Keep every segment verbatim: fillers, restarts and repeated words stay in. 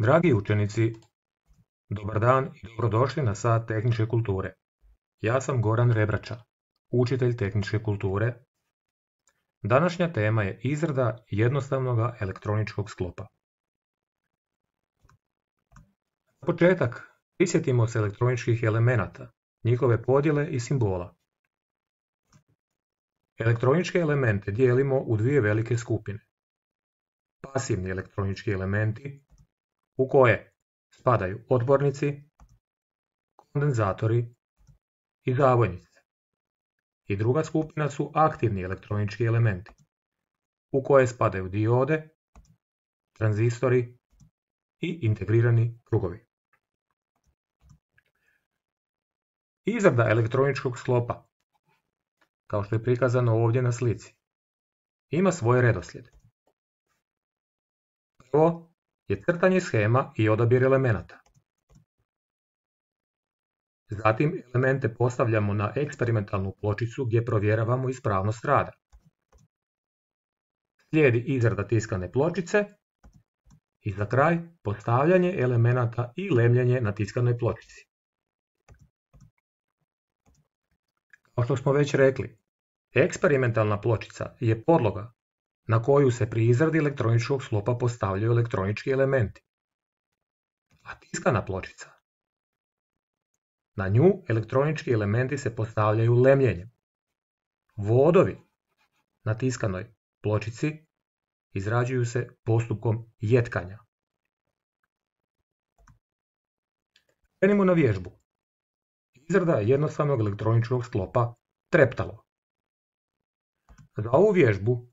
Dragi učenici, dobar dan i dobrodošli na sat tehničke kulture. Ja sam Goran Rebrača, učitelj tehničke kulture. Današnja tema je izrada jednostavnog elektroničkog sklopa. Na početak prisjetimo se elektroničkih elemenata, njihove podjele i simbola. Elektroničke elemente dijelimo u dvije velike skupine. Pasivni elektronički elementi, u koje spadaju odbornici, kondenzatori i zavojnice. I druga skupina su aktivni elektronički elementi, u koje spadaju diode, tranzistori i integrirani krugovi. Izrada elektroničkog sklopa, kao što je prikazano ovdje na slici, ima svoj redoslijed. Prvo je crtanje shema i odabir elemenata. Zatim elemente postavljamo na eksperimentalnu pločicu gdje provjeravamo ispravnost rada. Slijedi izrada tiskane pločice i za kraj postavljanje elemenata i lemljenje na tiskanoj pločici. Kao što smo već rekli, eksperimentalna pločica je podloga na koju se pri izradi elektroničkog sklopa postavljaju elektronički elementi. A tiskana pločica, na nju elektronički elementi se postavljaju lemljenjem. Vodovi na tiskanoj pločici izrađuju se postupkom jetkanja. Krenimo na vježbu. Izrada jednostavnog elektroničkog sklopa treptalo. Za ovu vježbu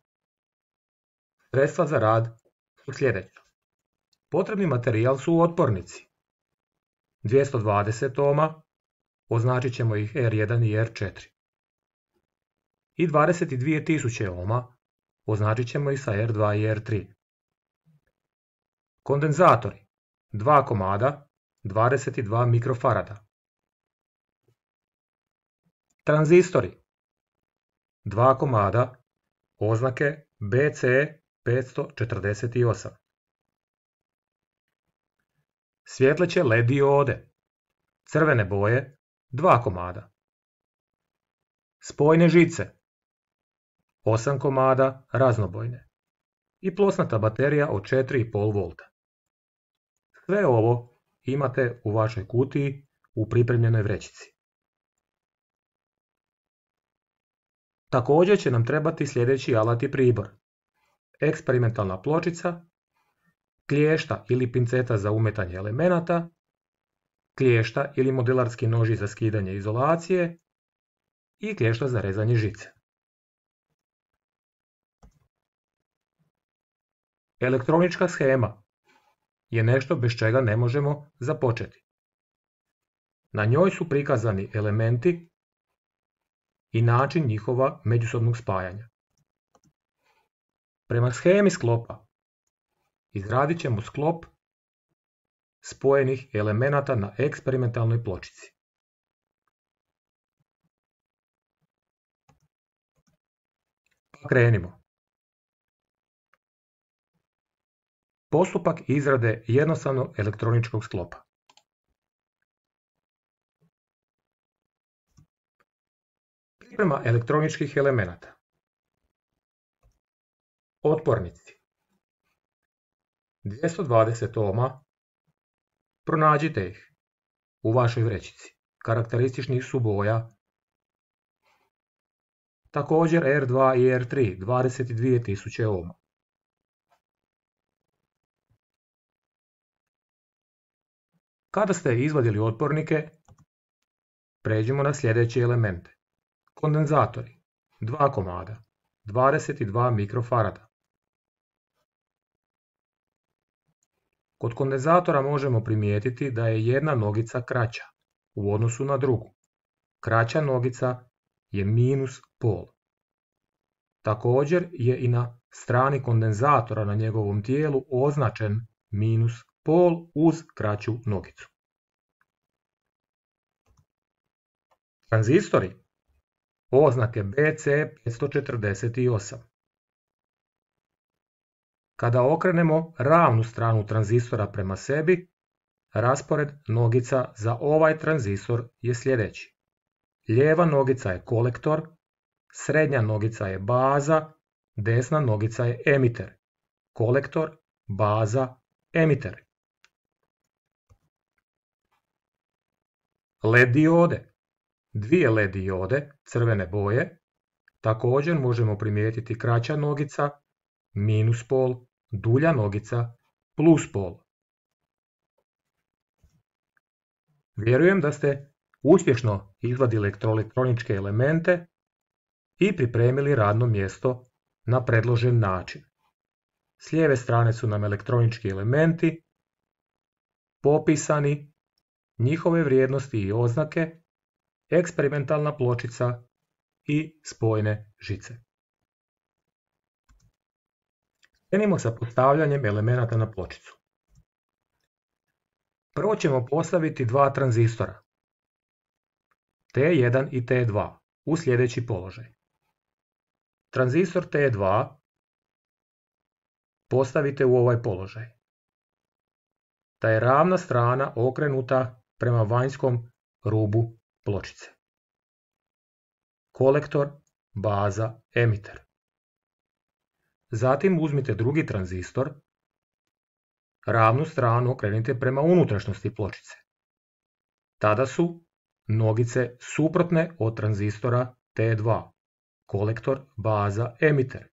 sredstva za rad su sljedeća. Potrebni materijal su otpornici. dvjesto dvadeset ohma, označit ćemo ih er jedan i er četiri. I dvadeset dvije tisuće ohma, označit ćemo ih sa er dva i er tri. Kondenzatori, dva komada, dvadeset dva mikrofarada. Tranzistori, dva komada, oznake be ce petsto četrdeset osam. Svjetleće led diode, crvene boje, dva komada. Spojne žice, osam komada, raznobojne. I plosnata baterija od četiri i pol volta. Sve ovo imate u vašoj kutiji u pripremljenoj vrećici. Također će nam trebati sljedeći alat i pribor. Eksperimentalna pločica, klješta ili pinceta za umetanje elemenata, klješta ili modelarski noži za skidanje izolacije i klješta za rezanje žice. Elektronička shema je nešto bez čega ne možemo započeti. Na njoj su prikazani elementi i način njihova međusobnog spajanja. Prema shemi sklopa izradit ćemo sklop spojenih elemenata na eksperimentalnoj pločici. Pa krenimo. Postupak izrade jednostavnog elektroničkog sklopa. Priprema elektroničkih elemenata. Otpornici. dvjesto dvadeset ohma. Pronađite ih u vašoj vrećici. Karakterističnih su boja. Također er dva i er tri, dvadeset dvije tisuće ohma. Kada ste izvadili otpornike, pređimo na sljedeće elemente. Kondenzatori, dva komada, dvadeset dva mikrofarada. Kod kondenzatora možemo primijetiti da je jedna nogica kraća u odnosu na drugu. Kraća nogica je minus pol. Također je i na strani kondenzatora na njegovom tijelu označen minus pol uz kraću nogicu. Tranzistori, oznake be ce petsto četrdeset osam. Kada okrenemo ravnu stranu tranzistora prema sebi, raspored nogica za ovaj tranzistor je sljedeći. Lijeva nogica je kolektor, srednja nogica je baza, desna nogica je emiter. Kolektor, baza, emiter. L E D diode. Dvije L E D diode crvene boje. Također možemo primijetiti kraća nogica, minus pol, dulja nogica, plus pol. Vjerujem da ste uspješno izvadili elektroničke elemente i pripremili radno mjesto na predložen način. S lijeve strane su nam elektronički elementi, popisani, njihove vrijednosti i oznake, eksperimentalna pločica i spojne žice. Krenimo sa postavljanjem elemenata na pločicu. Prvo ćemo postaviti dva tranzistora, T jedan i T dva, u sljedeći položaj. Tranzistor T dva postavite u ovaj položaj. Ta je ravna strana okrenuta prema vanjskom rubu pločice. Kolektor, baza, emiter. Zatim uzmite drugi tranzistor, ravnu stranu okrenite prema unutrašnjosti pločice. Tada su nogice suprotne od tranzistora T dva. Kolektor, baza, emiter.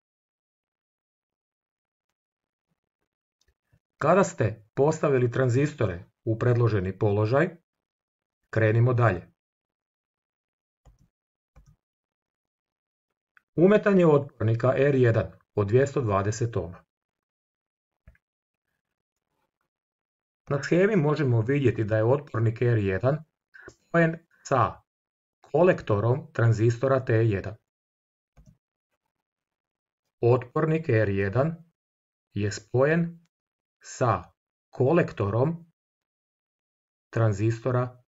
Kada ste postavili tranzistore u predloženi položaj, krenimo dalje. Umetanje otpornika R jedan od dvjesto dvadeset ohma. Na shemi možemo vidjeti da je otpornik R jedan spojen sa kolektorom tranzistora T jedan. Otpornik R jedan je spojen sa kolektorom tranzistora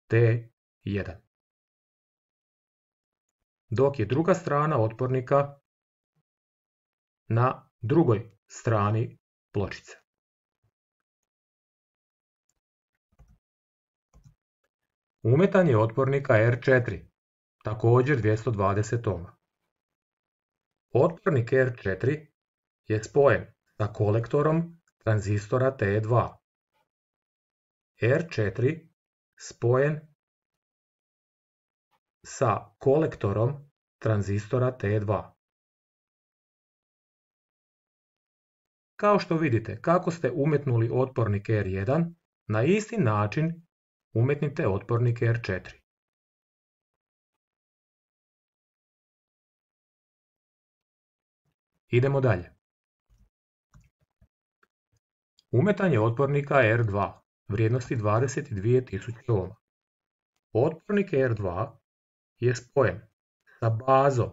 T jedan. Dok je druga strana otpornika na drugoj strani pločice. Umetanje otpornika R četiri, također dvjesto dvadeset ohma. Otpornik R četiri je spojen sa kolektorom tranzistora T dva. R četiri spojen sa kolektorom tranzistora T dva. Kao što vidite, kako ste umetnuli otpornik R jedan, na isti način umetnite otpornik R četiri. Idemo dalje. Umetanje otpornika R dva, vrijednosti dvadeset dvije tisuće ohma. Otpornik R dva je spojen sa bazom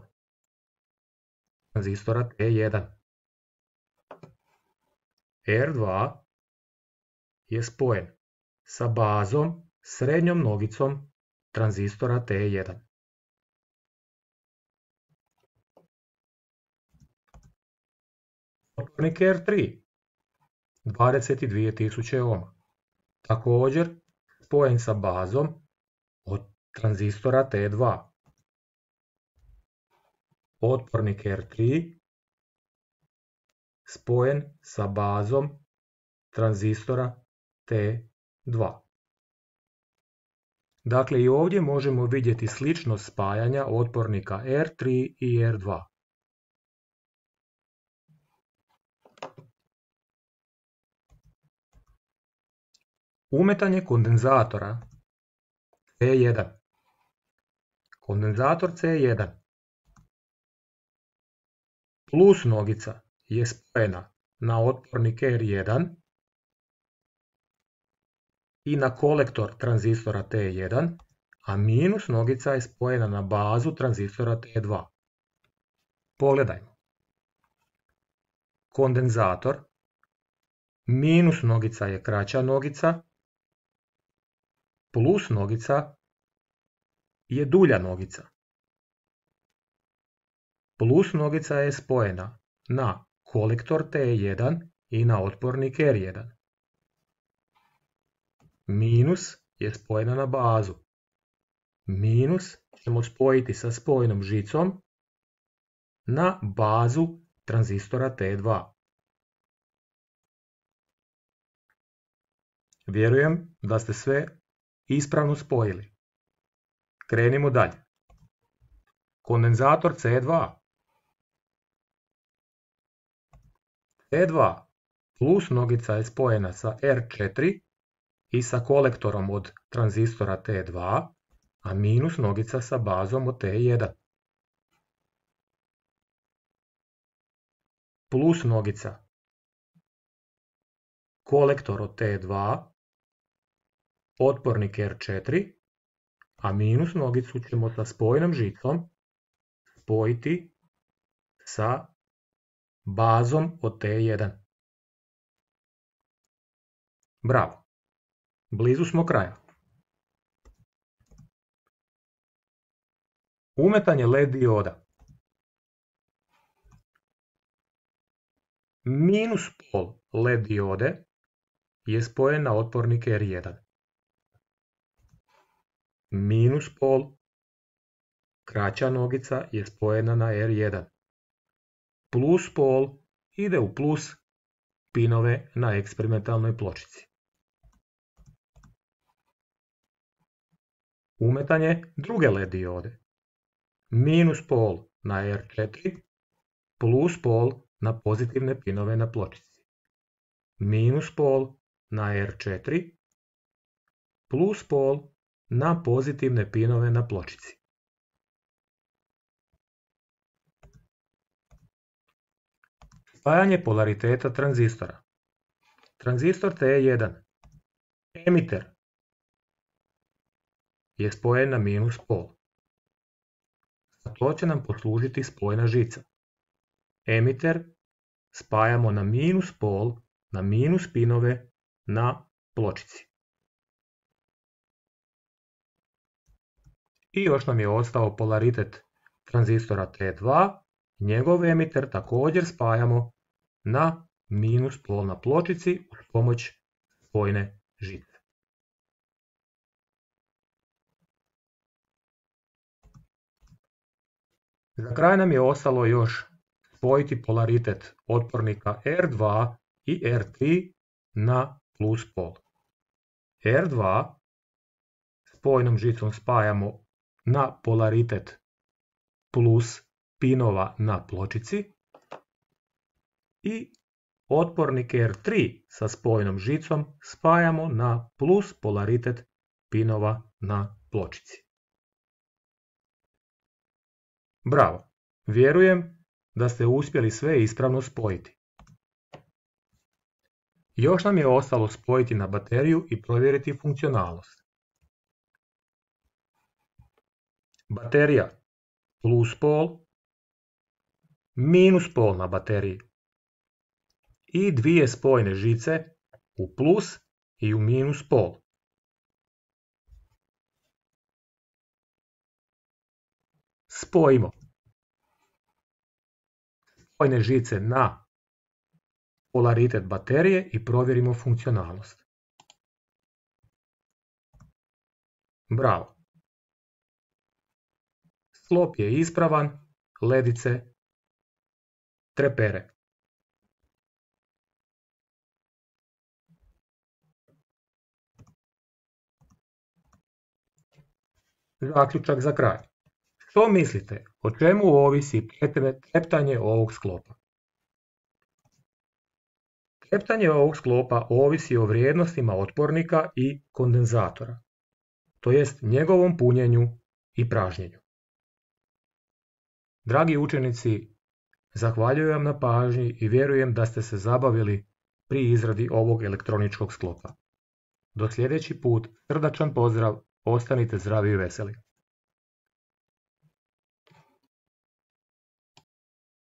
tranzistora T jedan. R dva je spojen sa bazom srednjom nogicom tranzistora T jedan. Otpornik R tri, dvadeset dvije tisuće ohma. Također spojen sa bazom od tranzistora T dva. Otpornik R tri spojen sa bazom tranzistora T dva. Dakle, i ovdje možemo vidjeti sličnost spajanja otpornika R tri i R dva. Umetanje kondenzatora C jedan. Kondenzator C jedan. Plus nogica je spojena na otpornik R jedan i na kolektor tranzistora T jedan, a minus nogica je spojena na bazu tranzistora T dva. Pogledajmo. Kondenzator, minus nogica je kraća nogica, plus nogica je dulja nogica. Plus nogica je spojena na kolektor T jedan i na otpornik R jedan. Minus je spojena na bazu. Minus ćemo spojiti sa spojnom žicom na bazu tranzistora T dva. Vjerujem da ste sve ispravno spojili. Krenimo dalje. Kondenzator C dva. C dva plus nogica je spojena sa R četiri i sa kolektorom od tranzistora T dva, a minus nogica sa bazom od T jedan. Plus nogica kolektor od T dva, otpornik R četiri, a minus nogicu ćemo sa spojnom žicom spojiti sa bazom od T jedan. Bravo! Blizu smo kraja. Umetanje L E D dioda. Minus pol L E D diode je spojen na otpornik R jedan. Minus pol, kraća nogica, je spojena na R jedan. Plus pol ide u plus pinove na eksperimentalnoj pločici. Umetanje druge L E D diode. Minus pol na R četiri, plus pol na pozitivne pinove na pločici. Minus pol na R četiri, plus pol na pozitivne pinove na pločici. Spajanje polariteta tranzistora. Tranzistor T jedan, emiter, je spojen na minus pol. Za to će nam poslužiti spojna žica. Emiter spajamo na minus pol, na minus pinove na pločici. I još nam je ostao polaritet tranzistora T dva, njegov emiter također spajamo na minus pol na pločici uz pomoć spojne žice. Za kraj nam je ostalo još spojiti polaritet otpornika R dva i R tri na plus pol. R dva spojnom žicom spajamo na polaritet plus pinova na pločici i otpornik R tri sa spojnom žicom spajamo na plus polaritet pinova na pločici. Bravo! Vjerujem da ste uspjeli sve ispravno spojiti. Još nam je ostalo spojiti na bateriju i provjeriti funkcionalnost. Baterija plus pol, minus pol na bateriji i dvije spojne žice u plus i u minus pol. Spojimo spojne žice na polaritet baterije i provjerimo funkcionalnost. Bravo! Sklop je ispravan, ledice trepere. Zaključak za kraj. Što mislite, o čemu ovisi treptanje ovog sklopa? Treptanje ovog sklopa ovisi o vrijednostima otpornika i kondenzatora, to jest njegovom punjenju i pražnjenju. Dragi učenici, zahvaljujem vam na pažnji i vjerujem da ste se zabavili pri izradi ovog elektroničkog sklopa. Do sljedeći put, srdačan pozdrav, ostanite zdravi i veseli.